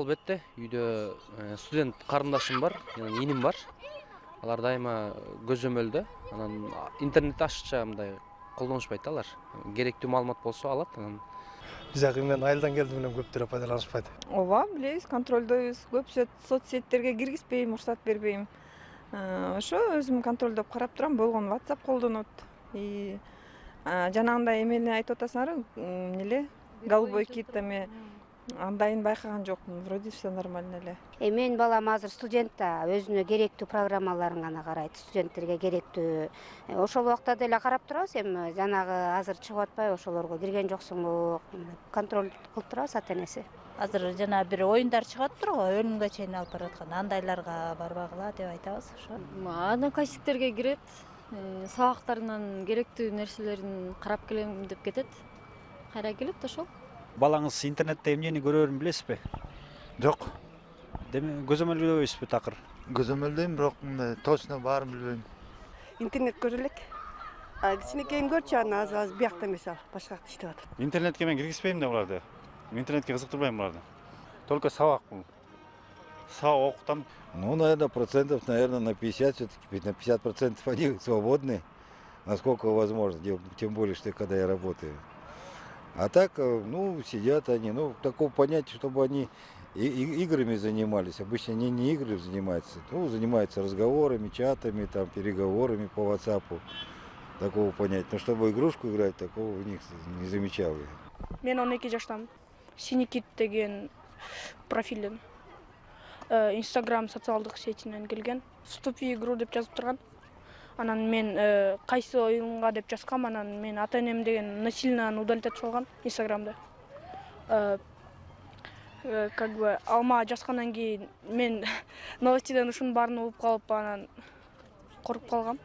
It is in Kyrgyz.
албетте. Үйдө студент карындашым бар, иним бар. Алар дайыма көзөмөлдө. Анан интернетти ашыкча мындай колдонушпайт алар. Керектүү маалымат болсо алат. Анан биз мен айылдан келдим менен көптөрү пайдаланышпайт. Ооба, билебиз, контролдойбуз. Көп соцсеттерге киргизбейм, уруксат бербейм. Ошо өзүм контролдоп карап турам. Болгон WhatsApp колдонот. Жанагындай эмени айтып атасыңарбы? Эмне голубой кит эме андайын байкаган жокмун. Вроде все нормально эле. Менин балам азыр студент да, өзүнө керектүү программаларын гана карайт, студенттерге керектүү. Ошол убакта деле карап турабыз, эми жанагы азыр чыгып атпайбы, ошолорго кирген жоксуңбу? Контроль кылып турабыз ата-энеси. Азыр жана бир оюндар чыгат турго, өлүмгө чейин алып бараткан. Андайларга барбагыла деп айтабыз, ошо. Одноклассниктерге кирет, сабактарынан керектүү нерселерин карап келем деп кетет. Кайра келет ошол. Балаңыз интернетте эмнени көрөрүн билесизби? Жок. Деме көзөмөлдөйсүзбү такыр? Көзөмөлдөйм, бирок точно баарын билбейм. Интернет көрө элек. Кичинекейим көрчү, анан аз биякта эмес ал, башка жакта иштеп атат. Интернетке мен киргизбейм да буларды. Интернетке кызыктырбайм буларды. Только сабак бул. Сабак окутам. Наверное, процентов, на 50 все-таки, на 50% они свободны, насколько возможно, тем более, что когда я работаю. А так, сидят они, такого понятия, чтобы они играми занимались. Обычно они не играми занимаются, занимаются разговорами, чатами, там, переговорами по WhatsApp. Такого понятия. Но чтобы игрушку играть, такого у них не замечал я. Мен 12 жаштамын. Синикит деген профилден. Instagram социалдык сетинен келген. Вступи в игру деп жазып турган. Анан мен кайсы оюнга деп жазгам, анан мен ата-энем деген насильно удалить этип салган Instagramда. Как бы алма жазгандан кийин мен новостиден ушунун баарын угуп калып, анан коруп калгам.